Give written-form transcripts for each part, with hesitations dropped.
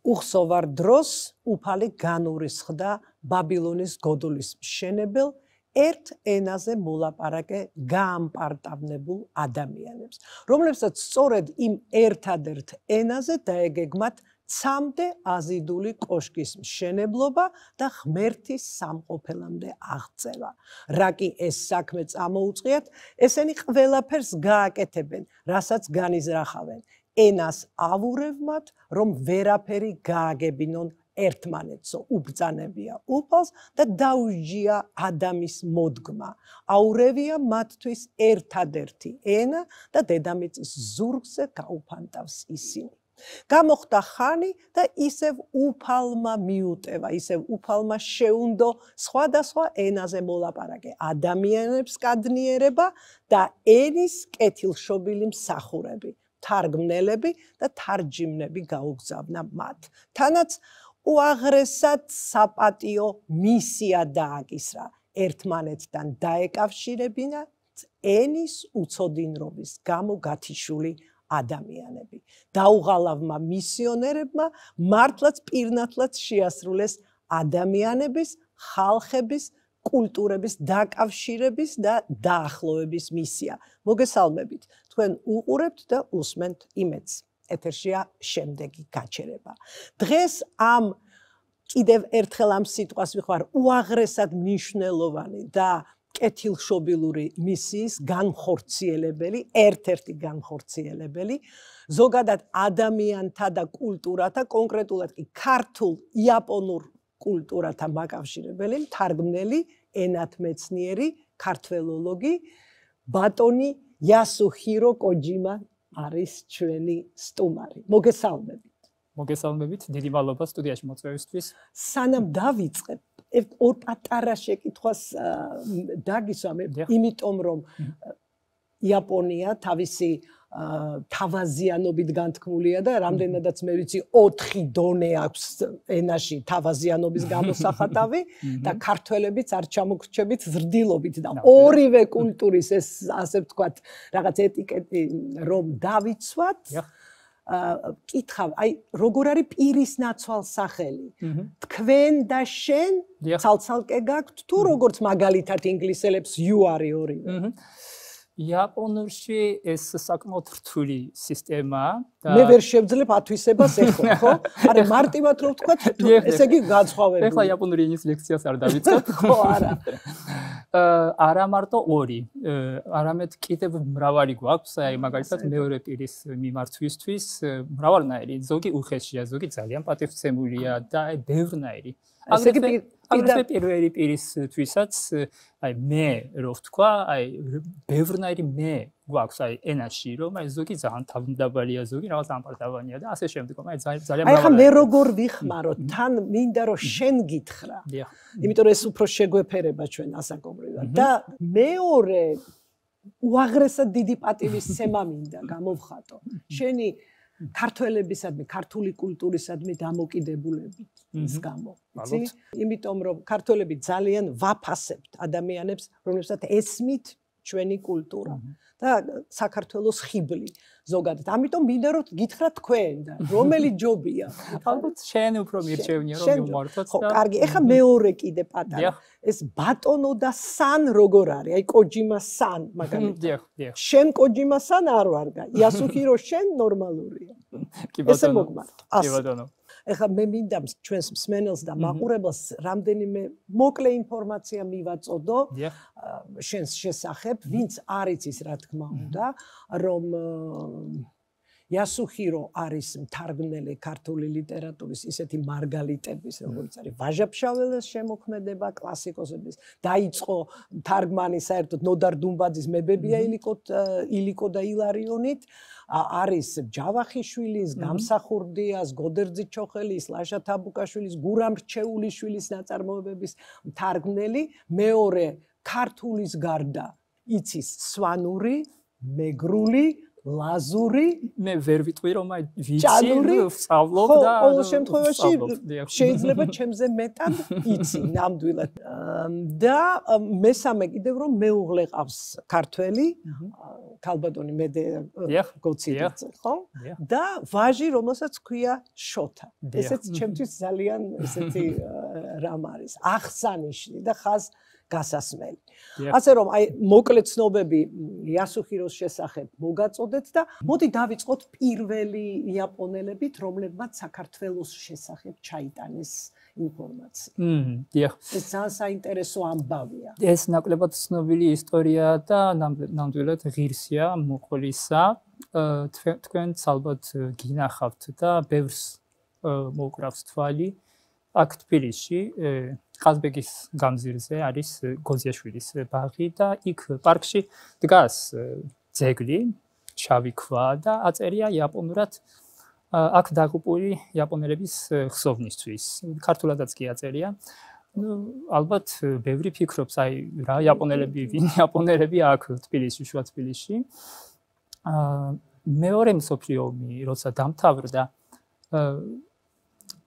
უხსოვარ დროს უფალი განურისხდა ბაბილონის გოდულის მშენებელ ერთ ენაზე მოლაპარაკე გაამპარტავნებულ ადამიანებს, რომლებსაც სწორედ იმ ერთადერთ ენაზე დაეგეგმათ ცამდე აზიდული კოშკის მშენებლობა და ღმერთის სამყოფელამდე აღწევა. რა კი ეს საქმე წამოუწყიათ, ესენი ყველაფერს გააკეთებენ, რასაც განიზრახავენ. ენას ავურევმათ, რომ ვერაფერი გააგებინონ ერთმანეთსო, უბრძანებია უფალს და დაუჯია ადამის მოდგმა. აურევია მათთვის ერთადერთი ენა და დედამიწის ზურგზე გაუფანტავს ისინი. გამოხდა ხანი და ისევ უფალმა მიუტევა, ისევ უფალმა შეუნდო სხვადასხვა ენაზე მოლაპარაკე ადამიანებს კადნიერება და ენის კეთილშობილი მსახურები, თარგმნელები და თარჯიმნები გაუგზავნა მათ. თანაც უაღრესად საპატიო მისია დააკისრა ერთმანეთთან დაეკავშირებინა ენის უცოდინრობის გამო გათიშული ადამიანები. დაუღალავმა მისიონერებმა მართლაც პირნათლად შეასრულეს ადამიანების, ხალხების, კულტურების დაკავშირების და დაახლოების მისია. მოგესალმებით, თქვენ უყურებთ და უსმენთ იმედს. ეთერშია შემდეგი გაჩერება. დღეს ამ კიდევ ერთხელ ამ სიტყვას ვიხმარ უაღრესად მნიშვნელოვანი და კეთილშობილური მისიის განხორციელებელი, ერთ-ერთი განხორციელებელი, ზოგადად ადამიანთა და კულტურათა, კონკრეტულად კი ქართულ იაპონურ კულტურათა მაკავშირებელი, მთარგმნელი, ენათმეცნიერი, ქართველოლოგი, ბატონი იასუჰირო კოჯიმა არის ჩვენი სტუმარი. მოგესალმებით. მოგესალმებით, დიდი მადლობა სტუდიაში მოწვევისთვის. სანამ დავიწყებ, ორ პატარა შეკითხვას დაგისვამ, იმიტომ რომ იაპონია თავისი თავაზიანობით განთქმულია და რამდენადაც მე ვიცი 4 დონე აქვს ენაში თავაზიანობის გამოსახატავი და ქართველებიც არ ჩამოგრჩებით ზრდილობით და ორივე კულტურის ეს ასე ვთქვათ რაღაც ეტიკეტი რომ დავიცვათ კითხავ, აი როგორ არის პირის ნაცვალ სახელი? თქვენ და შენ ცალ-ცალკე გაქვთ თუ როგორც მაგალითად ინგლისელებს you არის ორივე? იაპონურში ეს საკმაოდ რთული სისტემაა და მე ვერ შევძლებ ათვისებას ეხლა, ხო? არა, მარტივად რომ ვთქვათ, ესე იგი განსხვავებული. ეხლა იაპონური ენის ლექციას არ დავიწყებ. ხო, არა. არა მარტო 2, არამედ კიდევ მრავალი გვაქვს, აი მაგალითად მეორე პირის მიმართვისთვის მრავალნაირი, ზოგი უხეშია, ზოგი ძალიან პატივცემულია და აი ბევრნაირი. აგრეთვე პირველი პირისთვისაც აი მე რო ვთქვა, აი ბევრნაირი მე გვაქვს აი ენაში, რომ აი ზოგი ძალიან თავმდაბალია, ზოგი რაღაც ამპარტავანია და ასე შემდეგ. აი ძალიან მრავალი. აი ხა მე როგორ ვიხმარო, თან მინდა რომ შენ გითხრა. იმიტომ რომ ეს უფრო შეგვეფერება ჩვენ ასაკობრივად და მეორე უაღრესად დიდი პატივისცემა მინდა გამოვხატო. შენი ქართველებისადმი, ქართული კულტურისადმი დამოკიდებულებით ის გამო. იცი? იმიტომ რომ ქართველები ძალიან ვაფასებთ ადამიანებს, რომლებსაც ესმით ჩვენი კულტურა და საქართველოს ხიბლი ზოგადად. ამიტომ მინდა რომ გითხრა თქვენ და რომელი ჯობია? ალბათ შენ უფრო მირჩევნია რომ მიმართოთ და კარგი, ეხა მეორე კიდე პატარა. ეს ბატონო და სან როგორ არის? აი კოჯიმა სან მაგალითად. შენ კოჯიმა სან არ ვარ და იასუჰირო შენ ნორმალურია. ესე მოგმართ. კი ბატონო. ეხლა მე მინდა ჩვენს მსმენელს და მაყურებელს რამდენიმე მოკლე ინფორმაცია მივაწოდო შენს შესახებ, ვინც არ იცის რა თქმა უნდა, რომ იასუჰირო არის მთარგმნელი ქართული ლიტერატურის ისეთი მარგალიტების, როგორც არის ვაჟა-ფშაველას შემოქმედება, კლასიკოსების, დაიწყო თარგმანი საერთოდ ნოდარ დუმბაძის მებებია ილიკო და ილარიონით, არის ჯავახიშვილის, გამსახურდიას, გოდერძი-ჩოხელის, ლაშა თაბუკაშვილის, გურამ რჩეულიშვილის ნაწარმოებების მთარგმნელი, მეორე ქართულის გარდა იცის სვანური, მეგრული, ლაზური, მე ვერ ვიტყვი რომ აი ვიცი, ვსწავლობ და ყოველ შემთხვევაში შეიძლება ჩემზე მეტად იცი ნამდვილად. და მესამე კიდევ რომ მეუღლე ყავს ქართველი, ქალბატონი მედე გოციდიძე, ხო? და ვაჟი, რომელსაც ქვია შოთა. ესეც ჩემთვის ძალიან ესეთი რამ არის, აღსანიშნი და ხაზ გასასმელი. ასე რომ აი მოკლე ცნობები იასუჰიროს შესახებ მოგაწოდეთ და მოდი დავიწყოთ პირველი იაპონელებით, რომლებმაც საქართველოს შესახებ ჩაიტანეს ინფორმაცია. დიახ. ეს ძალიან საინტერესო ამბავია. ეს ნაკლებად ცნობილი ისტორია და ნამდვილად ღირსია მოყოლისა. თქვენც ალბათ გინახავთ და ბევრს მოკრავს თვალი. აქ თბილისში ყაზბეგის გამზირზე არის გოზიაშვილის ბაღი და იქ პარკში დგას ძეგლი, შავი ქვა და აწერია იაპონურად აქ დაღუპული იაპონელების ხსოვნისთვის. ქართულადაც კი აწერია. ალბათ ბევრი ფიქრობს, აი რა იაპონელები, ვინ იაპონელები აქ თბილისში, შუა თბილისში. მეორე მსოფლიო ომი როცა დამთავრდა,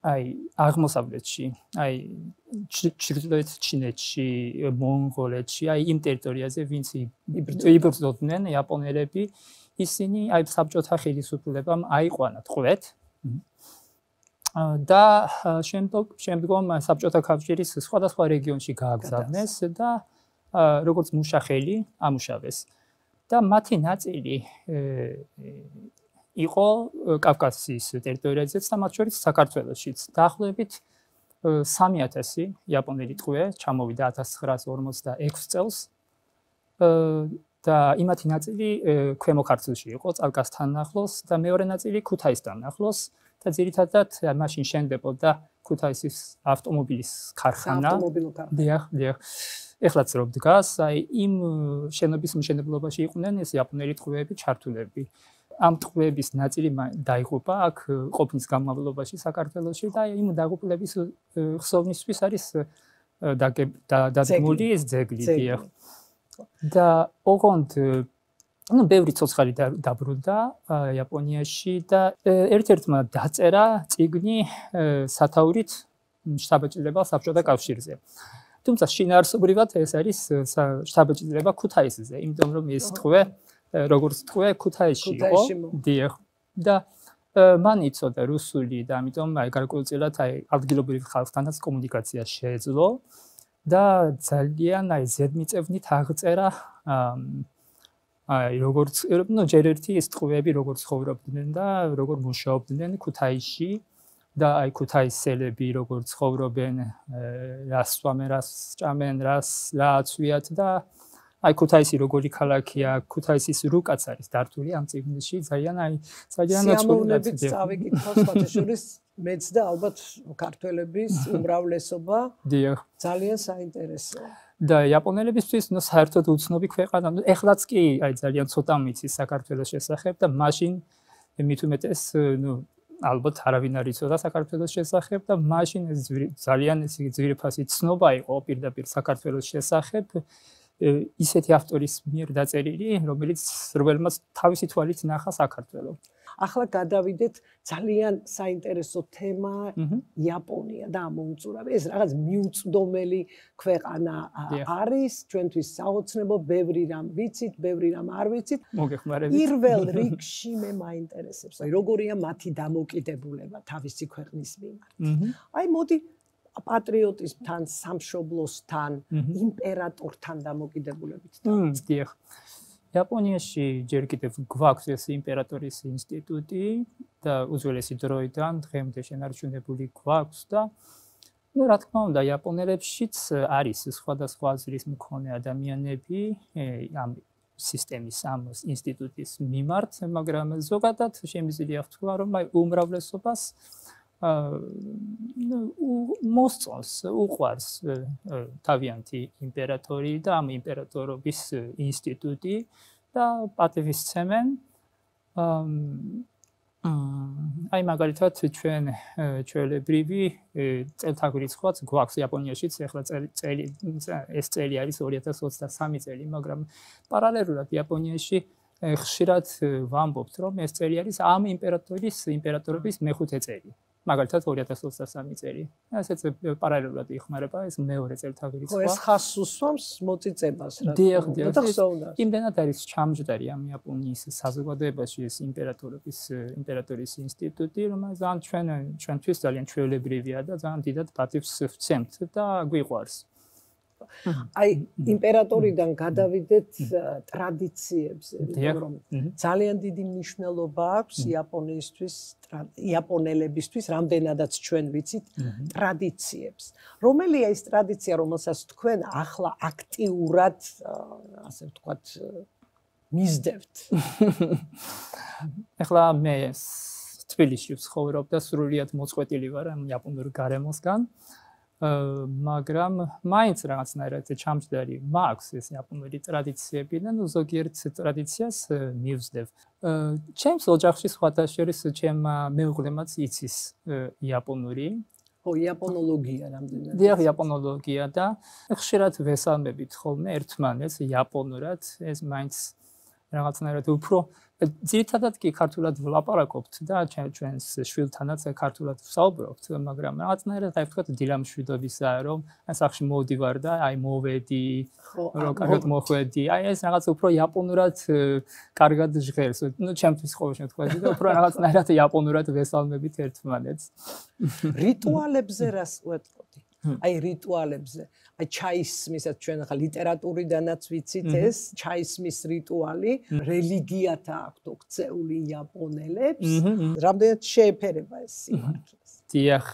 აი აღმოსავლეთში, აი ჩრდილოეთ ჩინეთში, მონღოლეთში, აი იმ ტერიტორიაზე, ვინც იბრძოდნენ იაპონელები, ისინი აი საბჭოთა ხელისუფლებამ აიყვანა ტყვეთ და შემდგომ საბჭოთა კავშირის სხვადასხვა რეგიონში გააგზავნეს და როგორც მუშახელი ამუშავეს და მათი ნაწილი იყო კავკასიის ტერიტორიაზეც და მათ შორის საქართველოშიც. დაახლოებით 3000 იაპონელი ტყვე ჩამოვიდა 1946 წელს და იმათი ნაწილი ქვემო ქართლში იყო, წალკასთან ახლოს და მეორე ნაწილი ქუთაისთან ახლოს და ძირითადად მაშინ შენდებოდა ქუთაისის ავტომობილის ქარხანა. დიახ. ეხლაც რო დგას, აი იმ შენობის მშენებლობაში იყვნენ ეს იაპონელი ტყვეები ჩართულები. ამ ტყვეების ნაწილი დაიღუპა აქ ყოფნის განმავლობაში საქართველოში და იმ დაღუპულების ხსოვნისთვის არის დადგმული ეს ძეგლი. დიახ. და ოღონდ ბევრი ცოცხალი დაბრუნდა იაპონიაში და ერთ-ერთმა დაწერა წიგნი სათაურით შთაბეჭდილება საბჭოთა კავშირზე. თუმცა შინაარსობრივად ეს არის შთაბეჭდილება ქუთაისზე, იმიტომ რომ ეს ტყვე როგორც ტყვე ქუთაისში იყო. დიახ. და მან იცოდა რუსული და ამიტომ აი გარკვეულწილად აი ადგილობრივ ხალხთანაც კომუნიკაცია შეეძლო. და ძალიან აი ზედმიწევნით აღწერა აი როგორც ჯერ ერთი ეს ტყვეები როგორ ცხოვრობდნენ და როგორ მუშაობდნენ ქუთაისში და აი ქუთაისელები როგორ ცხოვრობენ, რას სვამენ, რას ჭამენ, რა აცვიათ და აი ქუთაისი როგორი ქალაქია, ქუთაისის რუკაც არის დართული ამ წიგნში, ძალიან სიამოვნებით წავიკითხავ სხვათაშორის მეც და ალბათ ქართველების უმრავლესობა. დიახ. ძალიან საინტერესოა. და იაპონელებისთვის საერთოდ უცნობი ქვეყანა, ეხლაც კი აი ძალიან ცოტა მიცის საქართველოს შესახებ და მაშინ მით უმეტეს ალბათ არავინ არ იცოდა საქართველოს შესახებ და მაშინ ეს ძალიან ძვირფასი ცნობა იყო პირდაპირ საქართველოს შესახებ. ისეთი ავტორის მიერ დაწერილი, რომელმაც თავისი თვალით ნახა საქართველო. ახლა გადავიდეთ ძალიან საინტერესო თემა იაპონია და ამოუწურავი. ეს რაღაც მიუწვდომელი ქვეყანა არის, ჩვენთვის საოცნებო, ბევრი რამ ვიცით, ბევრი რამ არ ვიცით. მოგეხმარებით. პირველ რიგში მე მაინტერესებს, აი როგორია მათი დამოკიდებულება თავისი ქვეყნის მიმართ. აი მოდი პატრიოტიზმთან, სამშობლოსთან, იმპერატორთან დამოკიდებულებით. დიახ. იაპონიაში ჯერ კიდევ გვაქვს ეს იმპერატორის ინსტიტუტი და უძველესი დროიდან დღემდე შენარჩუნებული გვაქვს და რა თქმა უნდა იაპონელებშიც არის სხვადასხვა აზრის მქონე ადამიანები ამ სისტემის ამ ინსტიტუტის მიმართ, მაგრამ ზოგადად შემიძლია ვთქვა, რომ უმრავლესობას მოსწონს, უყვარს თავიანთი იმპერატორი და ამ იმპერატორობის ინსტიტუტი და პატივისცემენ. აი მაგალითად ჩვენ ჩვეულებრივი წელთაღრიცხვაც გვაქვს იაპონიაშიც, ახლა ეს წელი არის 2023 წელი, მაგრამ პარალელურად იაპონიაში ხშირად ვამბობთ, რომ ეს წელი არის ამ იმპერატორობის მეხუთე წელი. მაგალითად 2023 წელი. ესეც პარალელურად იხმარება ეს მეორე წელთაღრიცხვი. ხო, ეს ხას უსვამს მოწიწებას რა. დიახ, იმდენად არის ჩამჯდარი ამ იაპონიის საზოგადოებაში ეს იმპერატორის ინსტიტუტი, რომელიც ჩვენთვის ძალიან ჩვეულებრივია და ძალიან დიდად პატივს ვცემთ და გვიყვარს. აი იმპერატორიდან გადავიდეთ ტრადიციებზე, რომ ძალიან დიდი მნიშვნელობა აქვს იაპონელებისთვის, რამდენადაც ჩვენ ვიცით ტრადიციებს. რომელია ის ტრადიცია, რომელსაც თქვენ ახლა აქტიურად, ასე ვთქვათ, მისდევთ? ახლა მე თბილისში ვცხოვრობ და სრულიად მოწყვეტილი ვარ ამ იაპონურ გარემოსგან. მაგრამ მაინც რაღაცნაირად ჩამჯდარი მაქვს ეს იაპონური ტრადიციები და ზოგიერთ ტრადიციას მივსდევ. ჩემს ოჯახში სხვათა შორის ჩემმა მეუღლემაც იცის იაპონური. ხო, იაპონოლოგია რამდენად. დიახ, იაპონოლოგია და ხშირად ვესალმებით ხოლმე ერთმანეთს იაპონურად, ეს მაინც რაღაცნაირად უფრო ძირითადად კი ქართულად ვლაპარაკობთ და ჩვენს შვილთანაც ქართულად ვსაუბრობთ, მაგრამ რაღაცნაირად აი ვთქვათ დილამშვიდობისაა, რომ სახში მოვდივარ და აი მოვედი, რომ კარგად მოხვედი. აი ეს რაღაც უფრო იაპონურად კარგად ჟღერს. ნუ ჩემთვის ყოველ შემთხვევაში და უფრო რაღაცნაირად იაპონურად ვესალმებით ერთმანეთს. რიტუალებზე რას ვეტყოდი? აი რიტუალებზე. აი ჩაისმისაც ჩვენ ახლა ლიტერატურიდანაც ვიცით ეს ჩაისმის რიტუალი, რელიგიათა აქვთ ოქცეული იაპონელებს. რამდენად შეეფერება ეს სიმართლეს? დიახ,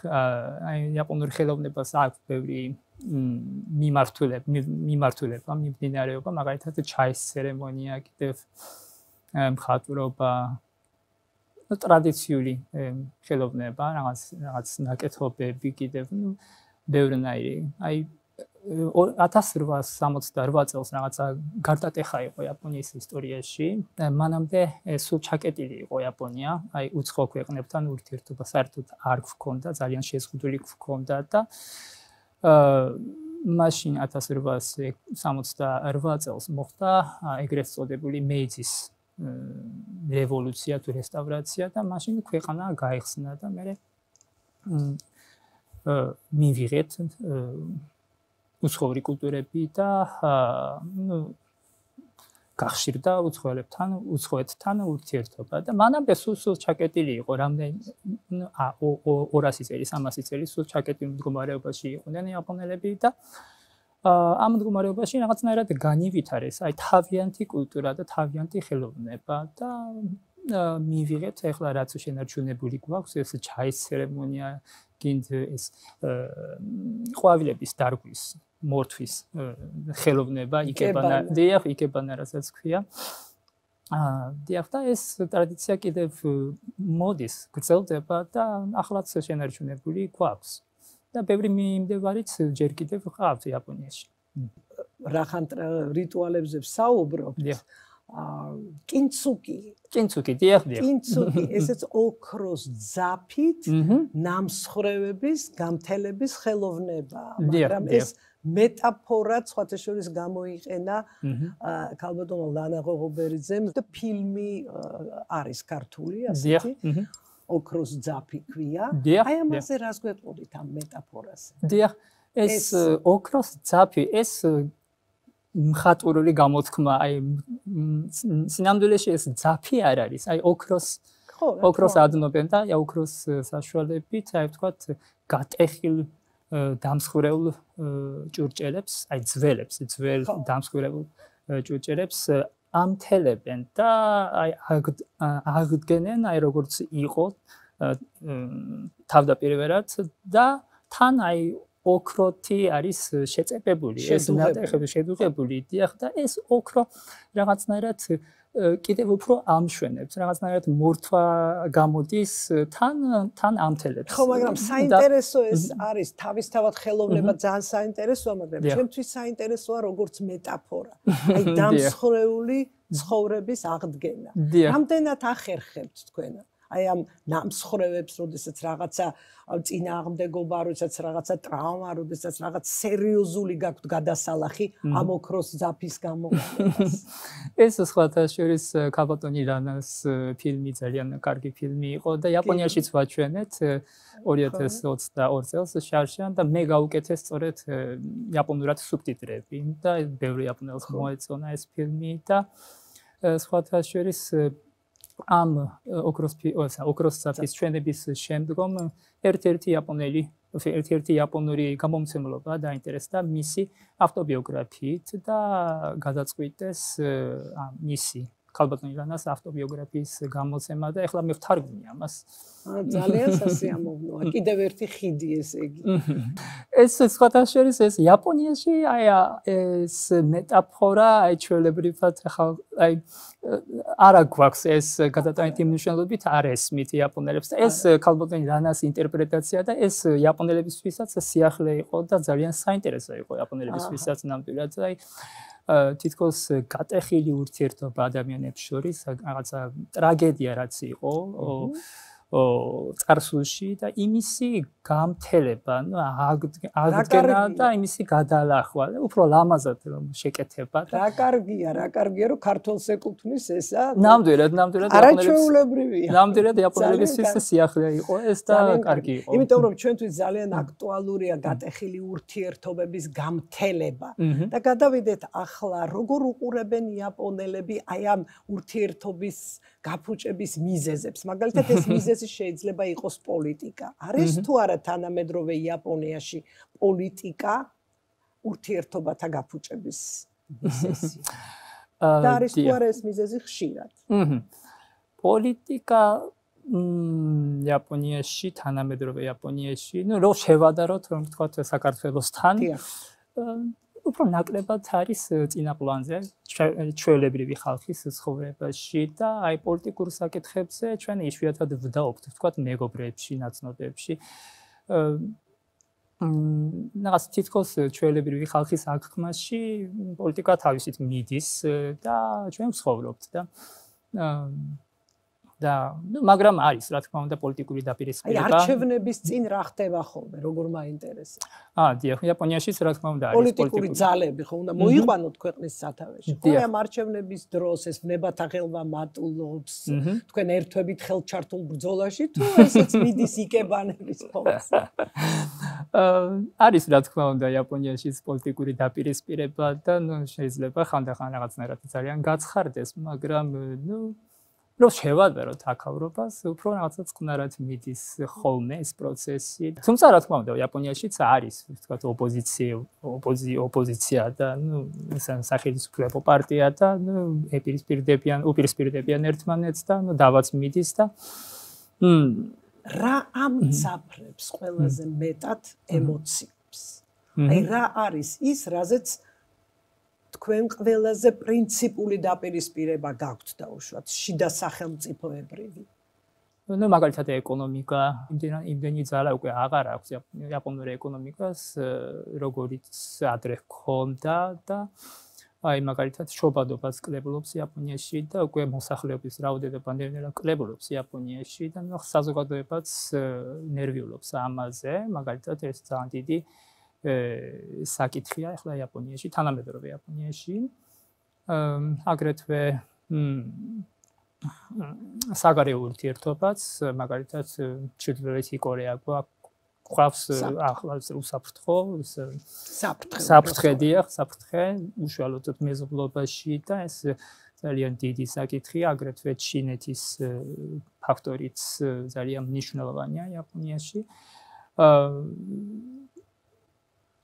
აი იაპონურ ხელოვნებას აქვს ბევრი მიმართულება, მიმდინარეობა, მაგალითად ჩაის ცერემონია, კიდევ მხატვრობა, ტრადიციული ხელოვნება, რაღაც ნაკეთობები კიდევ, ბევრნაირი. აი 1868 წელს რაღაცა გარტატეხა იყო იაპონიის ისტორიაში. მანამდე სულ ჩაკეტილი იყო იაპონია, აი უცხო ქვეყნებთან ურთიერთობა საერთოდ არ გვქონდა, ძალიან შეზღუდული გვქონდა და მაშინ 1868 წელს მოხდა ეგრეთ წოდებული მეიძის რევოლუცია თუ რესტავრაცია და მაშინ ქვეყანა გაიხსნა და მე მივიღეთ უცხოური კულტურები და გახშირდა უცხოეთთან ურთიერთობა და მანამდე სულ ჩაკეტილი იყო რამდენი 200 წელი 300 წელი სულ ჩაკეტილ მდგომარეობაში იყვნენ იაპონელები და ამ მდგომარეობაში რაღაცნაირად განივითარეს აი თავიანთი კულტურა და თავიანთი ხელოვნება და მივიღეთ ახლა რაც შენარჩუნებული გვაქვს ეს ჩაის ცერემონია გინდ ეს ყვავილების დარგვის მორთვის ხელოვნება იკებანა რასაც ქვია დიახ და ეს ტრადიცია კიდევ მოდის გრძელდება და ახლაც შენარჩუნებული გვაქვს და ბევრი მიმდევარიც ჯერ კიდევ ყავთ იაპონიაში რახან რიტუალებზე ვსაუბრობთ კინცუკი დიახ კინცუკი ესეც ოქროს ძაფით ნამსხვრევების გამთელების ხელოვნება მაგრამ ეს მეტაფორა სხვათა შორის გამოიყენა ქალბატონმა ლანა ღოღობერიძემ და ფილმი არის ქართული ასეთი ოქროს ძაფი ქვია აი ამაზე რას გვეტყოდით ამ მეტაფორაზე დიახ ეს ოქროს ძაფი ეს მხატვრული გამოთქმა აი სინამდვილეში ეს ძაფი არ არის აი ოქროს ადნობენ და ოქროს საშუალებით აი ვთქვათ გატეხილ დამსხვრეულ ჭურჭელებს აი ძველ დამსხვრეულ ჭურჭელებს ამთელებენ და აი აღდგენენ აი როგორც იყო თავდაპირველად და თან აი ოქროთი არის შეწებებული, ეს ნატეხები შედუღებული, დიახ და ეს ოქრო რაღაცნაირად კიდევ უფრო ამშვენებს, რაღაცნაირად მორთვა გამოდის თან ამთელებს. ხო, მაგრამ საინტერესო ეს არის, თავისთავად ხელოვნება ძალიან საინტერესოა, მაგრამ ჩემთვის საინტერესოა როგორც მეტაფორა. აი დამსხვრეული ცხოვრების აღდგენა. რამდენად ახერხებთ თქვენ აი ამ ნამსხვრევებს, როდესაც რაღაცა წინააღმდეგობა, როდესაც რაღაცა ტრავმა, როდესაც რაღაც სერიოზული გაქვთ გადასალახი ამ ოქროს ძაფის გამოყენებას. ეს სხვათა შორის ქალბატონი რანას ფილმი ძალიან კარგი ფილმი იყო და იაპონიაშიც ვაჩვენეთ 2022 წელს შარშან და მე გავუკეთე სწორედ იაპონურად სუბტიტრები და ბევრი იაპონელს მოეწონა ეს ფილმი და სხვათა შორის ამ ოქროს ძაფის ჩვენების შემდგომ ერთ-ერთი იაპონური გამომცემლობა დაინტერესდა მისი ავტობიოგრაფიით და გადაწყვიტეს მისი ქალბატონი რანას ავტობიოგრაფიის გამოცემა და ეხლა მე ვთარგმნი ამას. ძალიან სასიამოვნოა. კიდევ ერთი ხიდი ესე იგი. ეს სხვათა შორის ეს იაპონიაში აი ეს მეტაფორა აი ჩვეულებრივად აი არა გვაქვს ეს გადატანითი მნიშვნელობით არ ესმით იაპონელებს და ეს ქალბატონი რანას ინტერპრეტაცია და ეს იაპონელებისთვისაც სიახლე იყო და ძალიან საინტერესო იყო იაპონელებისთვისაც ნამდვილად აი თითქოს გატეხილი ურთიერთობა ადამიანებს შორის რაღაცა ტრაგედია რაც იყო წარსულში და იმისი გამთელება, აღდგენა და იმისი გადალახვა, უფრო ლამაზად რომ შეკეთება და რა კარგია რომ ქართულს ეკუთვნის ესა. ნამდვილად არაჩვეულებრივია. ნამდვილად იაპონელებისთვის სიახლე იყო ეს და კარგი იყო. იმიტომ რომ ჩვენთვის ძალიან აქტუალურია გატეხილი ურთიერთობების გამთელება და გადავიდეთ ახლა როგორ უყურებენ იაპონელები აი ამ ურთიერთობის გაფუჭების მიზეზებს. მაგალითად ეს მიზეზი შეიძლება იყოს პოლიტიკა. არის თუ არა თანამედროვე იაპონიაში პოლიტიკა ურთიერთობათა გაფუჭების მიზეზი? და არის თუ არა ეს მიზეზი ხშირად? პოლიტიკა იაპონიაში, თანამედროვე იაპონიაში, რო შევადაროთ, რომ ვთქვათ საქართველოსთან, უფრო ნაკლებად არის წინა პლანზე ჩვეულებრივი ხალხის ცხოვრებაში და აი პოლიტიკურ საკითხებზე ჩვენ იშვიათად ვდაობთ, ვთქვათ მეგობრებში, ნაცნობებში. რაღაც თითქოს ჩვეულებრივი ხალხის აღქმაში პოლიტიკა თავისით მიდის და ჩვენ ვცხოვრობთ და მაგრამ არის რა თქმა უნდა პოლიტიკური დაპირისპირება. აი არჩევნების წინ რა ხდება ხოლმე, როგორ მაინტერესებს? დიახ, იაპონიაშიც რა თქმა უნდა არის პოლიტიკური ძალები ხო უნდა მოიყვანოთ ქვეყნის სათავეში. ხო ამ არჩევნების დროს ეს ვნებათა ხელვა მატულობს, თქვენ ერთვებით ხელჩართულ ბრძოლაში თუ ესეც მიდის იკებანების ხოლმე? არის რა თქმა უნდა იაპონიაშიც პოლიტიკური დაპირისპირება და შეიძლება ხანდახან რაღაცნაირად ძალიან გაცხარდეს, მაგრამ რო შევადაროთ აქავრობას, უფრო რაღაცა წყნარად მიდის ხოლმე ეს პროცესი. თუმცა რა თქმა უნდა, იაპონიაშიც არის, ვთქვათ, ოპოზიცია და სახელმწიფო პარტია და უპირისპირდებიან ერთმანეთს და დავაც მიდის და რა ამცაფრებს ყველაზე მეტად ემოციებს? აი რა არის ის, რაზეც თქვენ ყველაზე პრინციპული დაპირისპირება გაქვთ დაუშვათ შიდა სახელმწიფოებრივი. მაგალითად ეკონომიკა, იმდენი ძალა უკვე აღარ აქვს იაპონური ეკონომიკას, როგორიც ადრე ჰქონდა და აი მაგალითად შობადობას კლებულობს იაპონიაში და უკვე მოსახლეობის რაოდენობა ნელ-ნელა კლებულობს იაპონიაში და საზოგადოებაც ნერვიულობს ამაზე, მაგალითად ეს ძალიან დიდი საკითხია ახლა იაპონიაში, თანამედროვე იაპონიაში. აგრეთვე საგარეო ურთიერთობაც, მაგალითად ჩრდილოეთი კორეა გვაქვს ახლა უსაფრთხო, საფრთხე, უშუალოდ მეზობლობაში და ეს ძალიან დიდი საკითხია, აგრეთვე ჩინეთის ფაქტორიც ძალიან მნიშვნელოვანია იაპონიაში.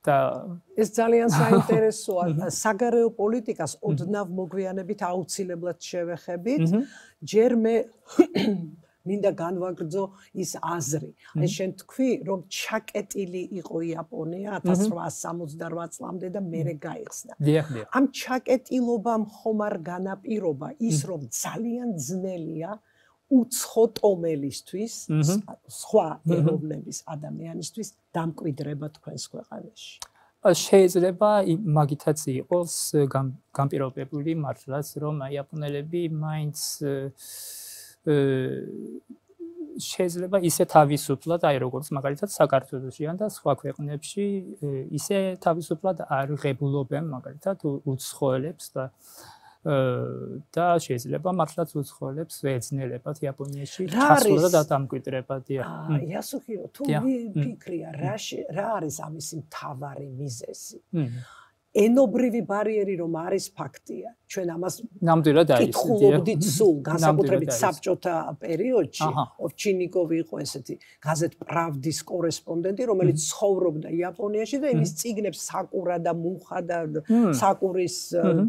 და ეს ძალიან საინტერესოა. საგარეო პოლიტიკას ოდნავ მოგვიანებით აუცილებლად შევეხებით. ჯერ მე მინდა განვაგრძო ის აზრი. აი შენ თქვი, რომ ჩაკეტილი იყო იაპონია 1868 წლამდე და მერე გაიხსნა. ამ ჩაკეტილობამ ხომ არ განაპირობა ის, რომ ძალიან ძნელია უცხო ტომელისთვის, სხვა ეროვნების ადამიანისთვის დამკვიდრება თქვენს ქვეყანაში. შეიძლება მაგითაც იყოს განპირობებული მართლაც, რომ იაპონელები მაინც შეიძლება ისე თავისუფლად, აი როგორც მაგალითად საქართველოში ან და სხვა ქვეყნებში ისე თავისუფლად არ ღებულობენ მაგალითად უცხოელებს და შეიძლება მართლაც უცხოელებს ეძნელებათ იაპონიაში ჩასვლა და დამკვიდრება. იასუჰირო, თუ ფიქრია რა არის ამისი მთავარი მიზეზი? ენობრივი ბარიერი რომ არის ფაქტია. ჩვენ ამას ნამდვილად არის. კითხულობდით სულ, განსაკუთრებით საბჭოთა პერიოდში. ოვჩინიკოვი იყო ესეთი გაზეთ პრავდის კორესპონდენტი, რომელიც ცხოვრობდა იაპონიაში და იმის წიგნებს საკურა და მუხა და საკურის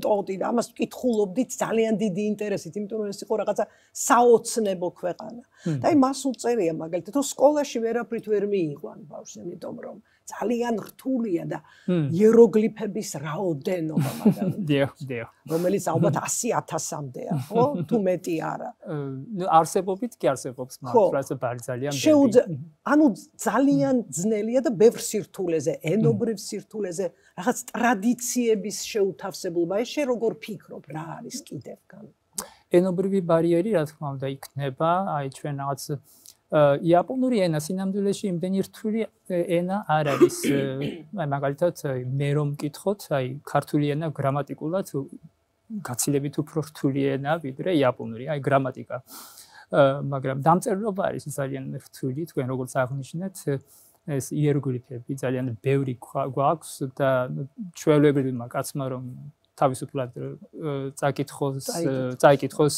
ტოტი და ამას კითხულობდით ძალიან დიდი ინტერესით, იმიტომ რომ ეს იყო რაღაცა საოცნებო ქვეყანა. და აი მას უწერია მაგალითად, რომ სკოლაში ვერაფრით ვერ მიიყვან ბავშვს, იმიტომ რომ ძალიან რთულია და იეროგლიფების რაოდენობა მაგალითად. რომელიც ალბათ 100,000-მდეა, ხო? თუ მეტი არა. არსებობით კი არსებობს, მაგრამ ძალიან ბევრი. ანუ ძალიან ძნელია და ბევრ სირთულეზე, ენობრივ სირთულეზე, რაღაც ტრადიციების შეუთავსებლობა. ეს შე როგორ ფიქრობ, რა არის კიდევ გან? ენობრივი ბარიერი, რა თქმა უნდა, იქნება, აი ჩვენ რაღაც იაპონური ენა სინამდვილეში იმდენი რთული ენა არ არის. აი მაგალითად მე რომ მკითხოთ, აი ქართული ენა გრამატიკულად გაცილებით უფრო რთული ენა ვიდრე იაპონური, აი გრამატიკა. მაგრამ დამწერლობა არის ძალიან რთული, თქვენ როგორც აღნიშნეთ, ეს იეროგლიფები ძალიან ბევრი გვაქვს და ჩვეულებრივმა კაცმა რომ თავისუფლად წაიკითხოს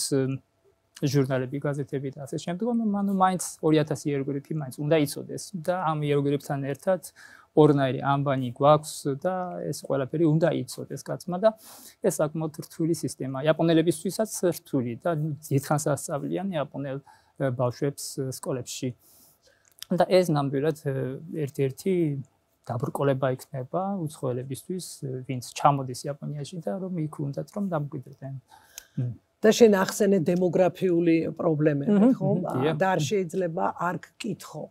ჟურნალები, გაზეთები და ასე შემდეგ, ანუ მაინც 2000 იეროგლიფი მაინც უნდა იცოდეს და ამ იეროგლიფთან ერთად ორნაირი ამბანი გვაქვს და ეს ყველაფერი უნდა იცოდეს კაცმა და ეს საკმაოდ რთული სისტემაა. იაპონელებისთვისაც რთული და დიდხანს ასწავლიან იაპონელ ბავშვებს სკოლებში. და ეს ნამდვილად ერთ-ერთი დაბრკოლება იქნება უცხოელებისთვის, ვინც ჩამოდის იაპონიაში და რომ იქ უნდათ რომ დამკვიდრდნენ. და შენ ახსენე დემოგრაფიული პრობლემები, ხო? და არ შეიძლება არ გკითხო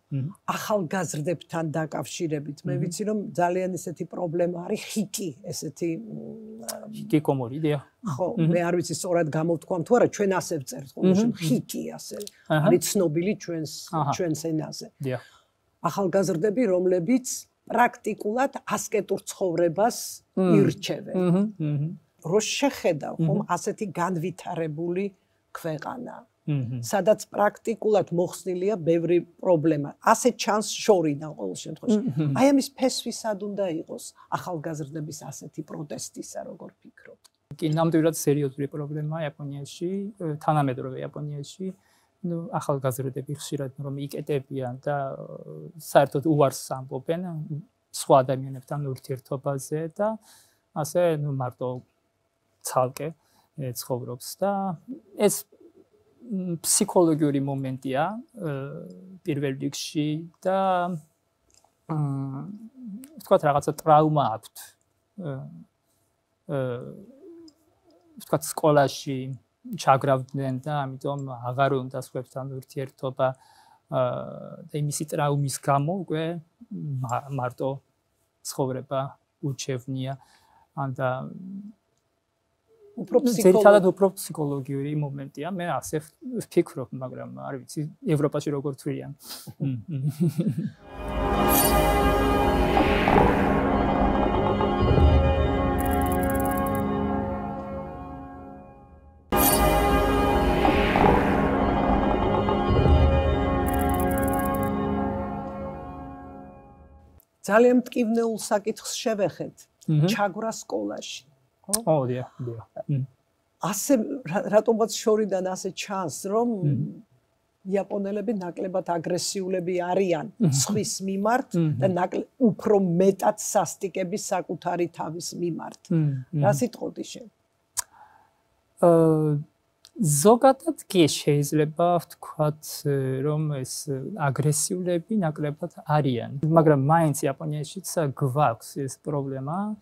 ახალგაზრდებთან დაკავშირებით. მე ვიცი რომ ძალიან ესეთი პრობლემა არის ხიკი, ესეთი ჰიკიკომორიდია. ხო, მე არ ვიცი სწორად გამოვთქვა თუ არა, ჩვენ ასე ვწერთ ყოველში ხიკი ასე. არის ცნობილი ჩვენს ენაზე. ახალგაზრდები, რომლებიც პრაქტიკულად ასკეტურ ცხოვრებას ირჩევენ. რო შეხედავ ხომ ასეთი განვითარებული ქვეყანა, სადაც პრაქტიკულად მოხსნილია ბევრი პრობლემა. ასე ჩანს შორიდან ყოველ შემთხვევაში. აი ამის ფესვი სად უნდა იყოს ახალგაზრდების ასეთი პროტესტისა, როგორ ფიქრობ? კი, ნამდვილად სერიოზული პრობლემაა იაპონიაში, თანამედროვე იაპონიაში. ახალგაზრდები ხშირად რომ იკეტებიან და საერთოდ უარს ამბობენ სხვა ადამიანებთან ურთიერთობაზე და ასე მარტო ცალკე ცხოვრობს და ეს ფსიქოლოგიური მომენტია პირველ რიგში და ვთქვათ რაღაცა ტრაუმა აქვთ. ვთქვათ სკოლაში ჩაგრავდნენ და ამიტომ აღარ უნდა სხვებთან ურთიერთობა და იმისი ტრაუმის გამო უკვე მარტო ცხოვრება ურჩევნია და უფრო ფსიქოლოგიური მომენტია. მე ასე ვფიქრობ, მაგრამ არ ვიცი ევროპაში როგორ თვლიან. ძალიან მტკივნეულ საკითხს შევეხეთ. ჩაგვრა სკოლაში. ხო, დიახ. ასე რატომაც შორიდან ასე ჩანს, რომ იაპონელები ნაკლებად აგრესიულები არიან სხვის მიმართ და უფრო მეტად სასტიკები საკუთარი თავის მიმართ. რა სიტყოდი შენ? ზოგადად კი შეიძლება ვთქვათ, რომ ეს აგრესიულები ნაკლებად არიან, მაგრამ მაინც იაპონიაშიც გვაქვს ეს პრობლემა.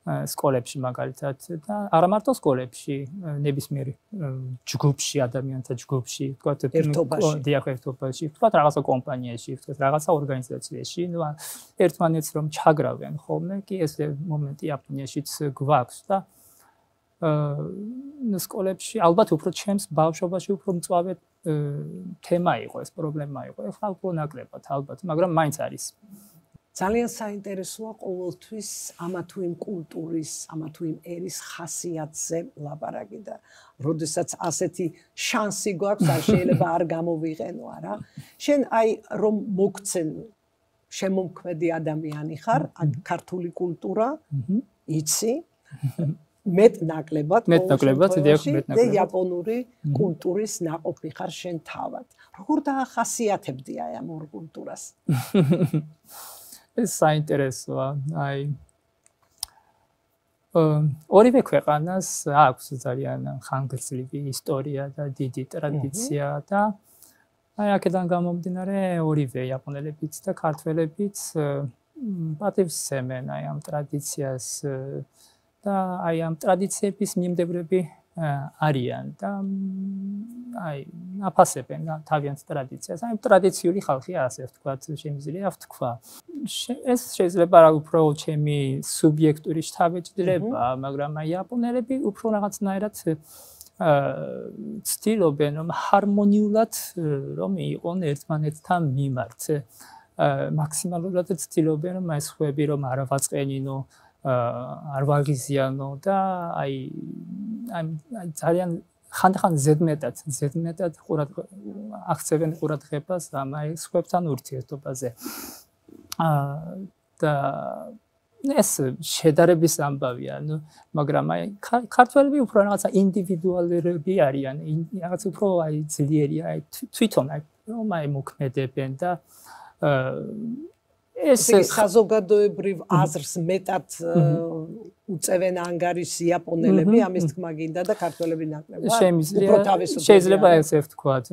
სკოლებში მაგალითად და არა მარტო სკოლებში, ნებისმიერ ჯგუფში, ადამიანთა ჯგუფში, ვთქვათ, ერთობაში, ვთქვათ, რაღაცა კომპანიაში, ვთქვათ, რაღაცა ორგანიზაციაში, ერთმანეთს რომ ჩაგრავენ ხოლმე, კი ეს მომენტი იაპონიაშიც გვაქვს და სკოლებში ალბათ უფრო ჩემს ბავშვობაში უფრო მწვავედ თემა იყო, ეს პრობლემა იყო. ეხლა უფრო ნაკლებად ალბათ, მაგრამ მაინც არის. ძალიან საინტერესოა ყოველთვის ამა თუ იმ კულტურის, ამა თუ იმ ერის ხასიათზე ლაპარაკი და როდესაც ასეთი შანსი გვაქვს, არ შეიძლება არ გამოვიყენო, არა? შენ აი რომ მოგცენ შემომქმედი ადამიანი ხარ, ქართული კულტურა, იცი, მეტ ნაკლებად და იაპონური კულტურის ნაყოფი ხარ შენ თავად. როგორ დაახასიათებდი აი ამ ორ კულტურას? ეს საინტერესოა, აი ორივე ქვეყანას აქვს ძალიან ხანგრძლივი ისტორია და დიდი ტრადიცია და აი აქედან გამომდინარე ორივე იაპონელებიც და ქართველებიც პატივს სცემენ აი ამ ტრადიციას და აი ამ ტრადიციების მიმდევრები არიან და აი აფასებენ თავიანთ ტრადიციას. აი ტრადიციული ხალხია, ასე ვთქვათ, შემიძლია ვთქვა. ეს შეიძლება რა უფრო ჩემი სუბიექტური შთაბეჭდილება, მაგრამ აი იაპონელები უფრო რაღაცნაირად ცდილობენ რომ ჰარმონიულად რომ იყონ ერთმანეთთან მიმართ. მაქსიმალურად ცდილობენ რომ აი სხვები რომ არ ავაწყენინო არ ვაღიზიანო და აი ძალიან ხანდახან ზედმეტად აქცევენ ყურადღებას ამ აი სხვებთან ურთიერთობაზე. და ეს შედარების ამბავია, მაგრამ აი ქართველები უფრო რაღაცა ინდივიდუალურები არიან, რაღაც უფრო აი ძლიერია, აი თვითონ აი რომ აი მოქმედებენ და ეს საზოგადოებრივ აზრს მეტად უწევენ ანგარიშს იაპონელები, ამის თქმა გინდა და ქართველები ნაკლებად. შეიძლება ესე ვთქვათ,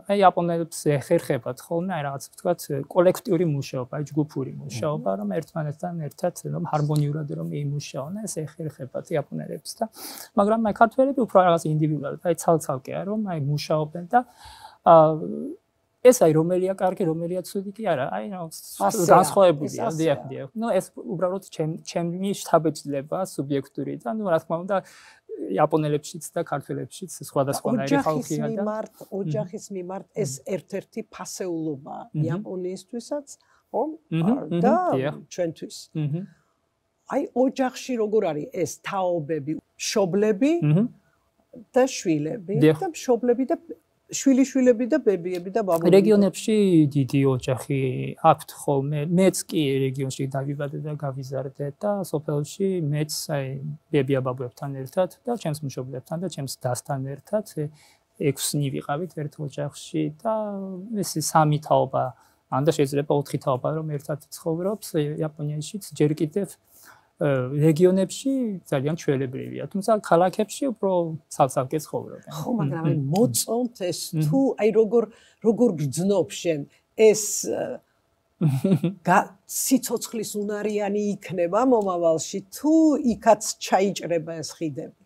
აი იაპონელებს ეხერხებათ ხოლმე აი რაღაც ვთქვათ კოლექტიური მუშაობა, აი ჯგუფური მუშაობა, რომ ერთმანეთთან ერთად რომ ჰარმონიურად რომ იმუშაონ, ეს ეხერხებათ იაპონელებს და მაგრამ აი ქართველები უფრო რაღაც ინდივიდუალურად, აი ცალ-ცალკეა რომ აი მუშაობენ და ეს აი რომელია კარგი, რომელია ცუდი კი არა, აი განსხვავებულია, დიახ. ეს უბრალოდ ჩემი შთაბეჭდილება სუბიექტური და რა თქმა უნდა იაპონელებშიც და ქართველებშიც სხვადასხვანაირი ხალხია და ოჯახის მიმართ ეს ერთ-ერთი ფასეულობაა იაპონიისთვისაც, ხო? და ჩვენთვის. აი ოჯახში როგორ არის ეს თაობები, მშობლები და შვილები და მშობლები და შვილიშვილები და ბებიები და ბაბუები. რეგიონებში დიდი ოჯახი აქვთ ხოლმე. მეც კი რეგიონში დავიბადე და გავიზარდე და სოფელში მეც აი ბებია-ბაბუებთან ერთად და ჩემს მშობლებთან და ჩემს დასთან ერთად 6-ნი ვიყავით ერთ ოჯახში და ეს სამი თაობა, ან და შეიძლება 4 თაობა რომ ერთად ცხოვრობს იაპონიაშიც ჯერ კიდევ რეგიონებში ძალიან ჩვეულებრივია, თუმცა ქალაქებში უფრო ცალ-ცალკე ცხოვრობენ. ხო, მაგრამ აი მოწონთ ეს თუ აი როგორ გძნობ შენ ეს სიცოცხლის უნარიანი იქნება მომავალში თუ იქაც ჩაიჭრება ეს ხიდები?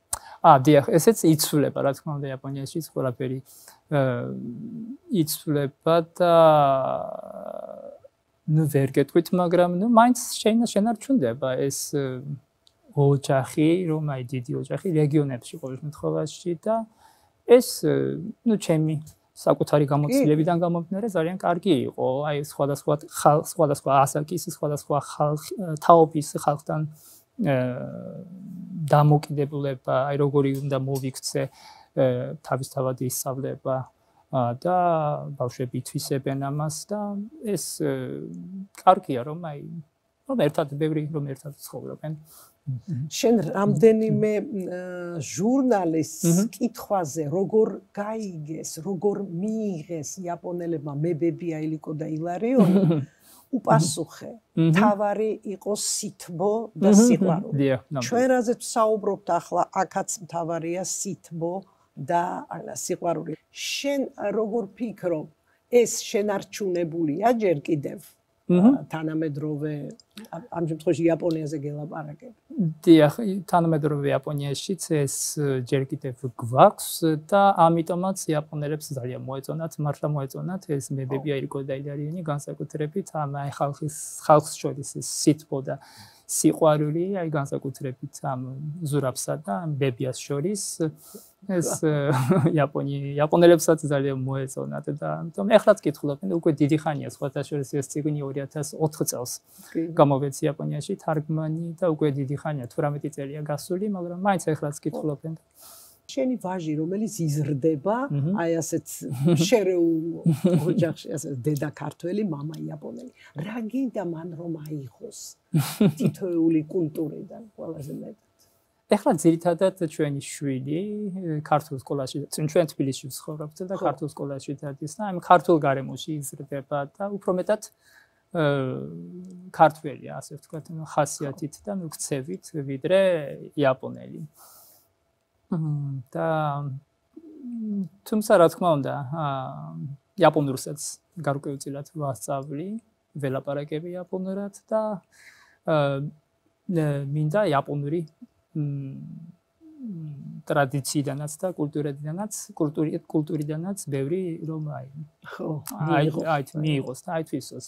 დიახ, ესეც იცვლება, რა თქმა უნდა, იაპონიაში ყველაფერი იცვლება და ვერ გეტყვით, მაგრამ მაინც შენარჩუნდება ეს ოჯახი, რომ აი დიდი ოჯახი რეგიონებში ყოველ შემთხვევაში და ეს ჩემი საკუთარი გამოცდილებიდან გამომდინარე ძალიან კარგი იყო. აი სხვადასხვა ასაკის, სხვადასხვა თაობის ხალხთან დამოკიდებულება, აი როგორი უნდა მოვიქცე თავისთავად ისწავლება და ბავშვები ითვისებენ ამას და ეს კარგია რომ აი რომ ერთად ცხოვრობენ. შენ რამდენიმე ჟურნალისტს კითხვაზე როგორ გაიგეს, როგორ მიიღეს იაპონელებმა მებებია ილიკო და ილარიონი უპასუხე. თავარი იყო სითბო და სიყვარული. ჩვენ რაზეც ვსაუბრობთ ახლა, აქაც თავარია სითბო და სიყვარული. შენ როგორ ფიქრობ, ეს შენარჩუნებულია ჯერ კიდევ თანამედროვე ამ შემთხვევაში იაპონიაზე გელაპარაკებ? დიახ, თანამედროვე იაპონიაშიც ეს ჯერ კიდევ გვაქვს და ამიტომაც იაპონელებს ძალიან მოეწონათ, მართლა მოეწონათ ეს მებებია ილიკო და ილარიონი განსაკუთრებით ამ აი ხალხს შორის ეს სითბო და სიყვარული, აი განსაკუთრებით ამ ზურაბსა და ამ ბებიას შორის ეს იაპონელებსაც ძალიან მოეწონათ და ამიტომ ეხლაც კითხულობენ უკვე დიდი ხანია სხვათა შორის ეს წიგნი 2004 წელს გამოვეც იაპონიაში თარგმანი და უკვე დიდი ხანია 18 წელია გასული, მაგრამ მაინც ეხლაც კითხულობენ. შენი ვაჟი რომელიც იზრდება, აი ასეთ შერეულ ოჯახში, ასე დედა ქართველი, მამა იაპონელი. რა გინდა მან რომ აიღოს თითოეული კულტურიდან ყველაზე მეტად? ეხლა ძირითადად ჩვენი შვილი ქართულ სკოლაში, ჩვენ თბილისში ვცხოვრობთ და ქართულ სკოლაში დადის და აი ქართულ გარემოში იზრდება და უფრო მეტად ქართველია, ასე ვთქვათ, ხასიათით და მიქცევით ვიდრე იაპონელი. და თუმცა რა თქმა უნდა, იაპონურსაც გარკვეულწილად ვასწავლი, ველაპარაკები იაპონურად და მინდა იაპონური ტრადიციიდანაც და კულტურიდანაც ბევრი რომ მიიღოს და აითვისოს.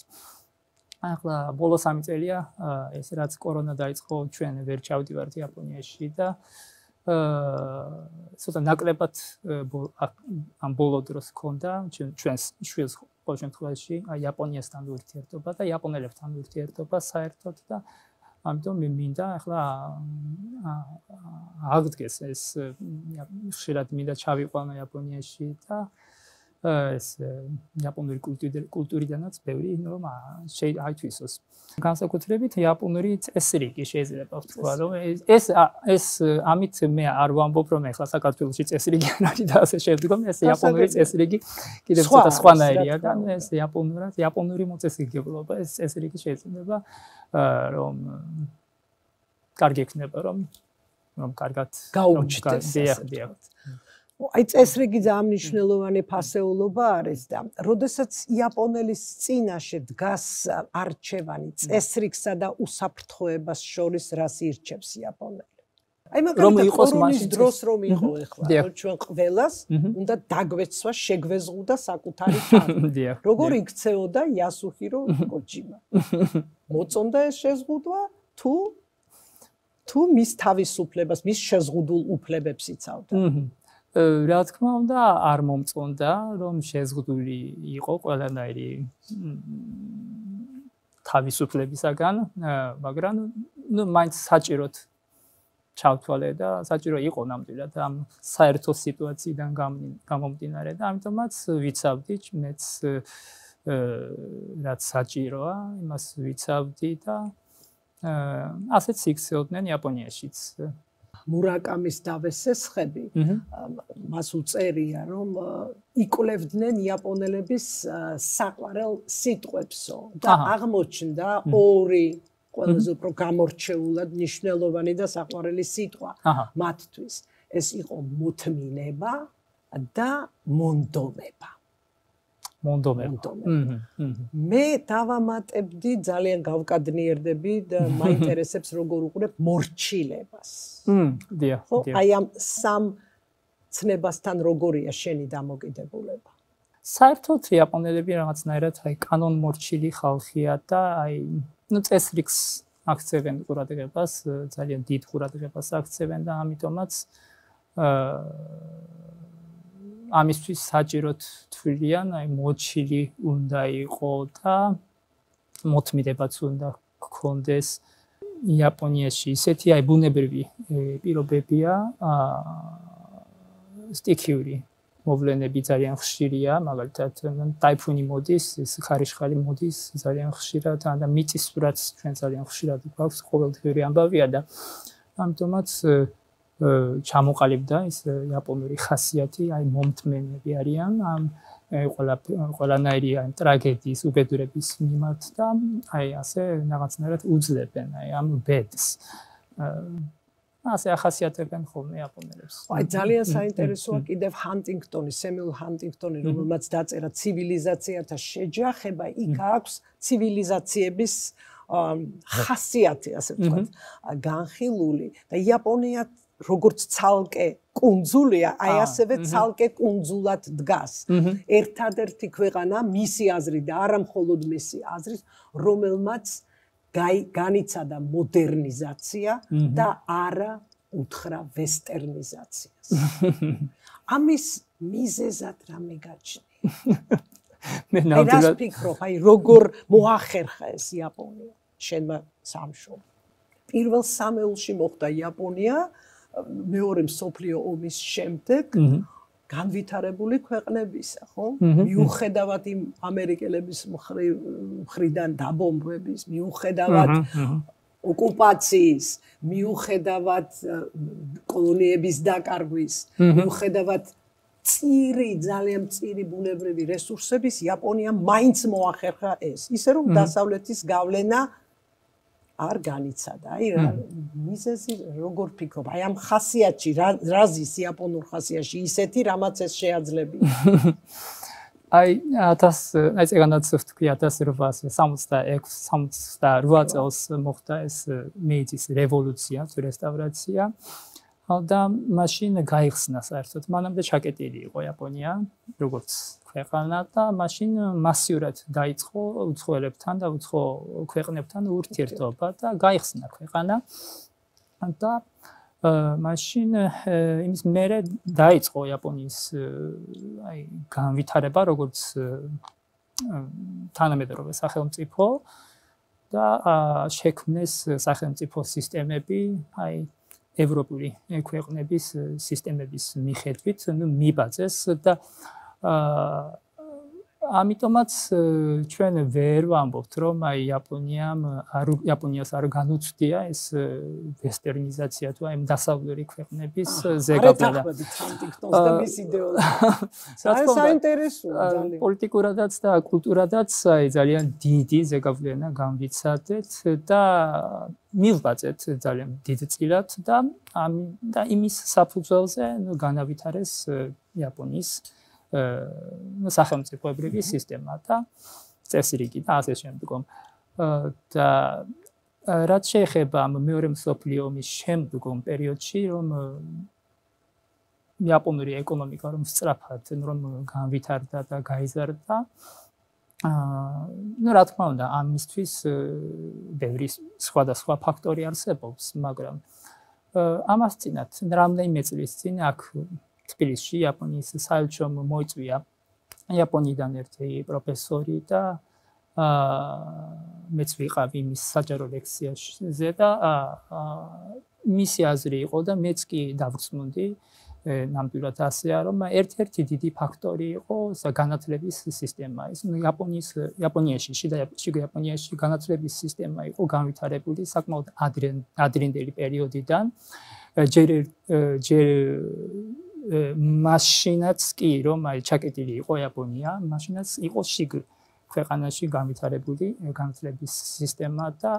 ახლა ბოლოს 3 წელია ეს რაც კორონა დაიწყო, ჩვენ ვერ ჩავდივართ იაპონიაში და ცოტა ნაკლებად ამ ბოლო დროს ჰქონდა ჩვენს შვილს ყოველ შემთხვევაში იაპონიასთან ურთიერთობა და იაპონელებთან ურთიერთობა საერთოდ და ამიტომ მე მინდა ახლა აღდგეს ეს ხშირად მინდა ჩავიყვანო იაპონიაში და ეს იაპონური კულტურიდანაც ბევრი რომ აითვისოს. განსაკუთრებით იაპონური წესრიგი შეიძლება ვთქვა რომ ეს ამით მე არ ვამბობ რომ ახლა საქართველოში წესრიგი არ არის და ასე შევდგომ ეს იაპონური წესრიგი კიდევ ცოტა სხვანაირია და ეს იაპონური მოწესრიგებლობა ეს წესრიგი შეიძლება რომ კარგი იქნება რომ კარგად გაუჩნდეს აი წესრიგი ძალიან მნიშვნელოვანი ფასეულობა არის და როდესაც იაპონელის წინაშე დგას არჩევანი წესრიგსა და უსაფრთხოებას შორის რას ირჩევს იაპონელი? აი მაგალითად კორონის დროს რომ იყო ეხლა ჩვენ ყველას უნდა დაგვეცვა შეგვეზღუდა საკუთარი თავი. როგორ იქცეოდა იასუჰირო კოჯიმა? მოწონდა ეს შეზღუდვა თუ მის თავისუფლებას, მის შეზღუდულ უფლებებს იცავდა? რა თქმა უნდა არ მომწონდა რომ შეზღუდული იყო ყველანაირი თავისუფლებისაგან, მაგრამ მაინც საჭიროდ ჩავთვალე და საჭირო იყო ნამდვილად ამ საერთო სიტუაციიდან გამომდინარე და ამიტომაც ვიცავდი მეც რაც საჭიროა, იმას ვიცავდი და ასეც იქცეოდნენ იაპონიაშიც. მურაკამის დავესესხები მას უწერია რომ იკვლევდნენ იაპონელების საყვარელ სიტყვებსო და აღმოჩნდა ორი ყველაზე უფრო გამორჩეულად მნიშვნელოვანი და საყვარელი სიტყვა მათთვის ეს იყო მოთმინება და მონდომება. მე დავამატებდი ძალიან გავკადნიერდები და მაინტერესებს როგორ უყურებ მორჩილებას. აი ამ სამ ცნებასთან როგორია შენი დამოკიდებულება? საერთოდ იაპონელები რაღაცნაირად აი კანონმორჩილი ხალხია და აი წესრიგს აქცევენ ყურადღებას, ძალიან დიდ ყურადღებას აქცევენ და ამიტომაც ამისთვის საჭიროდ თვლიან, აი მოჩილი უნდა იყო და მოთმინებაც უნდა გქონდეს. იაპონიაში ისეთი აი ბუნებრივი პირობებია, სტიქიური მოვლენები ძალიან ხშირია, მაგალითად ტაიფუნი მოდის, ეს ხარიშხალი მოდის ძალიან ხშირად და მიწისძვრაც ჩვენ ძალიან ხშირად გვაქვს, ყოველდღიური ამბავია და ამიტომაც ჩამოყალიბდა ეს იაპონური ხასიათი, აი მომთმენები არიან ამ ყველანაირი აი ტრაგედიის უბედურების მიმართ და აი ასე რაღაცნაირად უძლებენ აი ამ ბედს. ასე ახასიათებენ ხოლმე იაპონელებს. აი ძალიან საინტერესოა კიდევ ჰანტინგტონი, სემიულ ჰანტინგტონი, რომელმაც დაწერა ცივილიზაციათა შეჯახება, იქ აქვს ცივილიზაციების ხასიათი, ასე ვთქვათ, განხილული და იაპონია როგორც ცალკე კუნძულია, აი ასევე ცალკე კუნძულად დგას. ერთადერთი ქვეყანა მისი აზრით და არა მხოლოდ მისი აზრით, რომელმაც განიცადა მოდერნიზაცია და არა უთხრა ვესტერნიზაციას. ამის მიზეზად რამე გაჩნია? მე ნამდვილად ვფიქრობ, აი როგორ მოახერხა ეს იაპონია შენმა სამშობლო. პირველ სამეულში მოხდა იაპონია მეორე მსოფლიო ომის შემდეგ განვითარებული ქვეყნებისა, ხო? მიუხედავად იმ ამერიკელების მხრიდან დაბომბვების, მიუხედავად ოკუპაციის, მიუხედავად კოლონიების დაკარგვის, მიუხედავად ძალიან მწირი ბუნებრივი რესურსების, იაპონიამ მაინც მოახერხა ეს. ისე რომ დასავლეთის გავლენა არ განიცადა. აი რა მიზეზი როგორ ფიქრობ? აი ამ ხასიათში რა ზის იაპონურ ხასიათში ისეთი რამაც ეს შეაძლებია. აი 1868 წელს მოხდა ეს მეიძის რევოლუცია, რესტავრაცია. და მაშინ გაიხსნა საერთოდ. მანამდე ჩაკეტილი იყო იაპონია, როგორც ქვეყანა და მაშინ მასიურად დაიწყო უცხოელებთან და უცხო ქვეყნებთან ურთიერთობა და გაიხსნა ქვეყანა. და მაშინ იმის მერე დაიწყო იაპონიის აი განვითარება, როგორც თანამედროვე სახელმწიფო და შექმნეს სახელმწიფო სისტემები, აი ევროპული ქვეყნების სისტემების მიხედვით, მიბაძეს და ამიტომაც ჩვენ ვერ ვამბობთ, რომ აი იაპონიას არ განუცდია ეს ვესტერნიზაცია თუ აი დასავლური ქვეყნების ზეგავლენა. საინტერესოა ძალიან. პოლიტიკურადაც და კულტურადაც აი ძალიან დიდი ზეგავლენა განვიცადეთ და მივბაძეთ ძალიან დიდწილად და იმის საფუძველზე განავითარეს იაპონიის სახელმწიფოებრივი სისტემა და წესრიგი და ასე შემდგომ. და რაც შეეხება მეორე მსოფლიო ომის შემდგომ პერიოდში, რომ იაპონური ეკონომიკა რომ სწრაფად რომ განვითარდა და გაიზარდა, რა თქმა უნდა, ამისთვის ბევრი სხვადასხვა ფაქტორი არსებობს, მაგრამ ამას წინათ რამდენიმე წლის წინ აქ თბილისში იაპონიის საელჩომ მოიწვია იაპონიიდან ერთი პროფესორი და მეც ვიყავი მის საჯარო ლექციაში და მისი აზრი იყო და მეც კი დავრწმუნდი ნამდვილად ასეა, რომ ერთ-ერთი დიდი ფაქტორი იყო განათლების სისტემა. ეს იაპონიაში, შიდა იაპონიაში განათლების სისტემა იყო განვითარებული საკმაოდ ადრინდელი პერიოდიდან. მაშინაც კი რომ აი ჩაკეტილი იყო იაპონია, მაშინაც იყო შიგ ქვეყანაში განვითარებული განათლების სისტემა და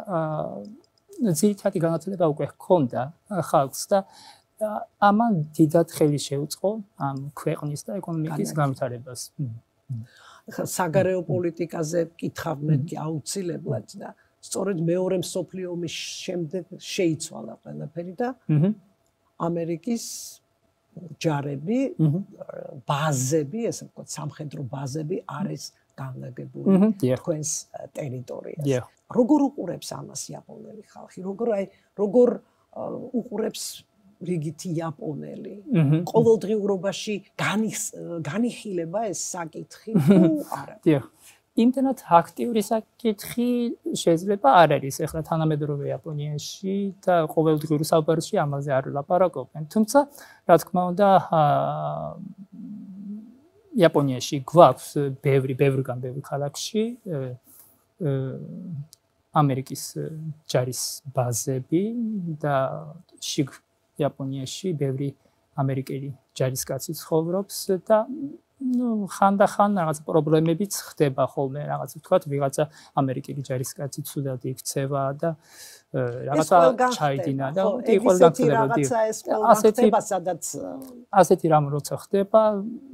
ძირითადი განათლება უკვე ჰქონდა ხალხს და ამან დიდად ხელი შეუწყო ამ ქვეყნის და ეკონომიკის განვითარებას. საგარეო პოლიტიკაზე კითხავ მე აუცილებლად და სწორედ მეორე მსოფლიო ომის შემდეგ შეიცვალა ყველაფერი და ამერიკის ჯარები, ბაზები, ესე ვთქვათ, სამხედრო ბაზები არის განლაგებული თქვენს ტერიტორიაზე. როგორ უყურებს ამას იაპონელი ხალხი? როგორ უყურებს რიგითი იაპონელი? ყოველდღიურობაში განიხილება ეს საკითხი თუ არა? იმდენად აქტიური საკითხი შეიძლება არ არის ახლა თანამედროვე იაპონიაში და ყოველდღიურ საუბარში ამაზე არ ლაპარაკობენ. თუმცა, რა თქმა უნდა, იაპონიაში გვაქვს ბევრი ქალაქში ამერიკის ჯარის ბაზები და შიგ იაპონიაში ბევრი ამერიკელი ჯარისკაცი ცხოვრობს და ხანდახან რაღაც პრობლემებიც ხდება ხოლმე, რაღაც ვთქვათ, ვიღაცა ამერიკელი ჯარისკაცი ცუდად იქცევა და რაღაცა ჩაიდინა და ყველგან ხდება. ასეთი რამ როცა ხდება,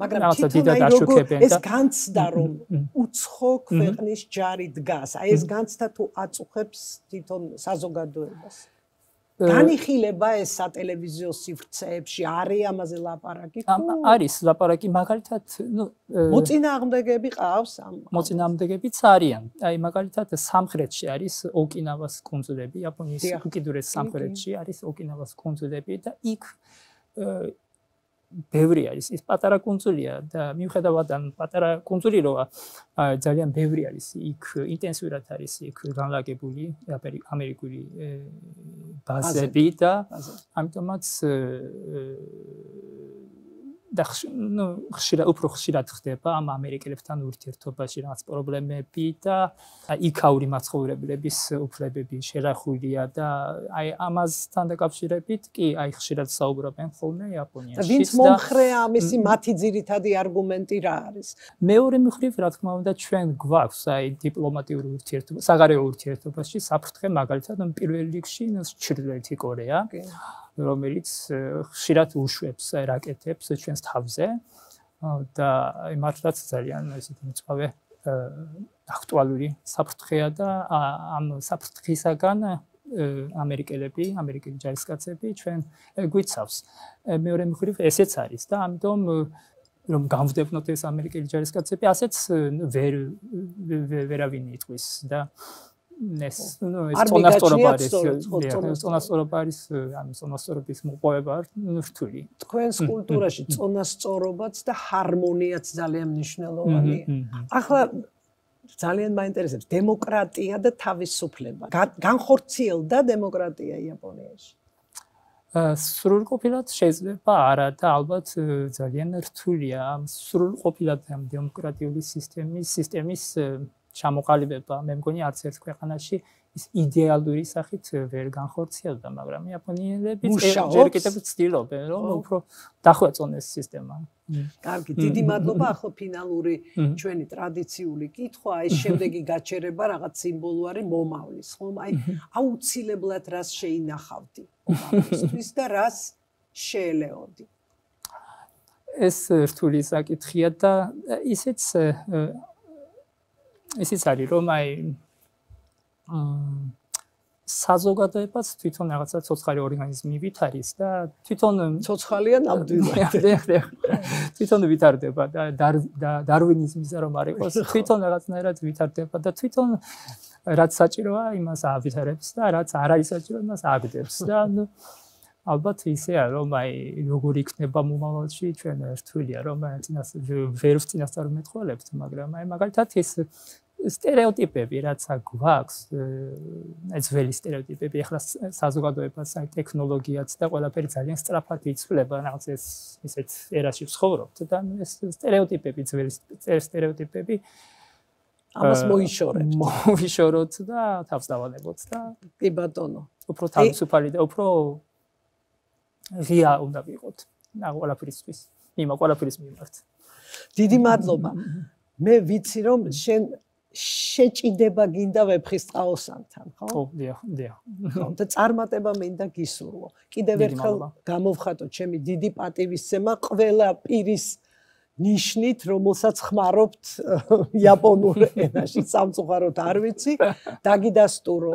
რაღაცა დიდად აშუქებენ და ეს განცდა რომ უცხო ქვეყნის ჯარი დგას. აი ეს განცდა თუ აწუხებს თვითონ საზოგადოებას. განიხილება ეს სატელევიზიო სივრცეებში არის ამაზე ლაპარაკი? არის ლაპარაკი, მაგალითად, მოწინააღმდეგეები ყავს ამ? მოწინააღმდეგებიც არიან. აი, მაგალითად, სამხრეთში არის ოკინავას კუნძულები, იაპონიის უკიდურეს სამხრეთში არის ოკინავას კუნძულები და იქ ბევრი არის. ის პატარა კუნძულია და მიუხედავად ამ პატარა კუნძული როა ძალიან ბევრი არის. იქ ინტენსიურად არის იქ განლაგებული ამერიკული ბაზები და ამიტომაც და უფრო ხშირად ხდება ამ ამერიკელებთან ურთიერთობაში რაღაც პრობლემები და იქაური მაცხოვრებლების უფლებები შერახულია და აი ამასთან დაკავშირებით კი აი ხშირად საუბრობენ ხოლმე იაპონიაში. ვინც მომხრეა ამისი მათი ძირითადი არგუმენტი რა არის? მეორე მხრივ რა თქმა უნდა ჩვენ გვაქვს აი დიპლომატიური ურთიერთობა, საგარეო ურთიერთობაში საფრთხე მაგალითად პირველ რიგში ჩრდილოეთი კორეა. რომელიც ხშირად უშვებს რაკეტებს ჩვენს თავზე და მართლაც ძალიან ესეთი მწვავე აქტუალური საფრთხეა და ამ საფრთხისაგან ამერიკელები, ამერიკელი ჯარისკაცები ჩვენ გვიცავს. მეორე მხრივ ესეც არის და ამიტომ რომ გამვდევნოთ ეს ამერიკელი ჯარისკაცები, ასეც ვერავინ იტყვის და ეს წონასწორობა არის ამ წონასწორობის მოპოვება რთული. თქვენს კულტურაში წონასწორობაც და ჰარმონიაც ძალიან მნიშვნელოვანია. ახლა ძალიან მაინტერესებს დემოკრატია და თავისუფლება. განხორციელდა დემოკრატია იაპონიაში? სრულყოფილად შეიძლება არა და ალბათ ძალიან რთულია ამ სრულყოფილად ამ დემოკრატიული სისტემის ჩამოყალიბება. მე მგონი არც ერთ ქვეყანაში ის იდეალური სახით ვერ განხორციელდა, მაგრამ იაპონიელები ჯერ კიდევ ცდილობენ, რომ უფრო დახვეწონ ეს სისტემა. კარგი, დიდი მადლობა. ახლა ფინალური ჩვენი ტრადიციული კითხვა, ეს შემდეგი გაჩერება რაღაც სიმბოლური მომავლის, ხომ? აი, აუცილებლად რას შეინახავდი მომავლისთვის და რას შეელეოდი? ეს რთული საკითხია და ისიც არის რომ აი საზოგადოებაც თვითონ რაღაცა ცოცხალი ორგანიზმი ვით არის და თვითონ ცოცხალია ნამდვილად. თვითონ ვითარდება და დარვინიზმისა რომ არ იყოს, თვითონ რაღაცნაირად ვითარდება და თვითონ რაც საჭიროა იმას ავითარებს და რაც არ არის საჭირო იმას აგდებს და ალბათ ისეა რომ აი როგორ იქნება მომავალში ჩვენ რთულია რომ ვერ ვწინასწარ მეტყველებთ, მაგრამ აი მაგალითად ეს სტერეოტიპები რაც გვაქვს, ძველი სტერეოტიპები, ახლა საზოგადოებას აი ტექნოლოგიაც და ყველაფერი ძალიან სწრაფად იცვლება, რაღაც ისეთ ერაში ვცხოვრობთ და ეს სტერეოტიპები, ძველი სტერეოტიპები ამას მოიშოროთ და თავს დავანებოთ და კი ბატონო. უფრო თავისუფალი და უფრო ღია უნდა ვიყოთ ყველაფერისთვის, ყველაფერის მიმართ. დიდი მადლობა. მე ვიცი რომ შენ შეჭიდება გინდა ვეფხისტყაოსანთან, ხო? ხო, დიახ. ხო, და წარმატება მინდა გისურვო. კიდევ ერთხელ გამოვხატო ჩემი დიდი პატივისცემა ყველა პირის ნიშნით, რომელსაც ხმარობთ იაპონურ ენაში, სამწუხაროდ არ ვიცი, დაგიდასტურო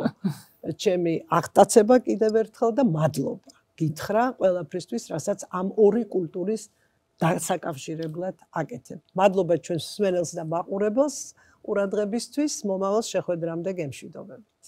ჩემი აღტაცება კიდევ ერთხელ და მადლობა. გითხრა ყველაფრისთვის, რასაც ამ ორი კულტურის დასაკავშირებლად აკეთებ. მადლობა ჩვენს მსმენელს და მაყურებელს ყურადღებისთვის, მომავალ შეხვედრამდე გემშვიდობებით.